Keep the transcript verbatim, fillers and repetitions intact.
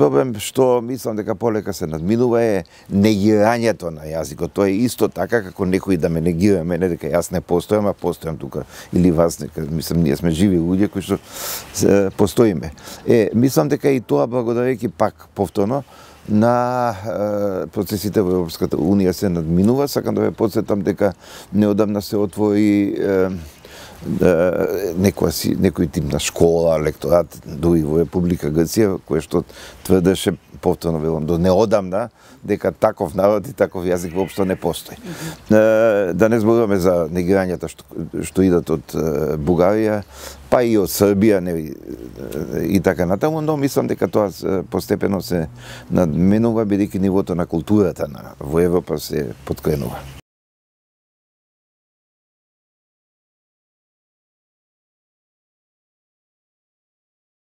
проблем што мислам дека полека се надминува е негирањето на јазикот. Тоа е исто така како некој да ме негира мене дека јас не постојам, а постојам тука или вас нека, мислам ние сме живи луѓе кои што постоиме. Е, мислам дека и тоа благодарејќи пак повторно на е, процесите во Европската Унија се надминува. Сакам да ве потсетам дека неодамна се отвори е, некоја си, некој тип на школа, лекторат, дури во Република Грција, кој што тврдеше, повторно велам, до неодамна, дека таков народ и таков јазик воопшто не постои. Mm-hmm. Да не зборуваме за негирањата што, што идат од Бугарија, па и од Србија, не, и така натаму, но мислам дека тоа постепено се надменува, бидејќи нивото на културата на во Европа се подкренува.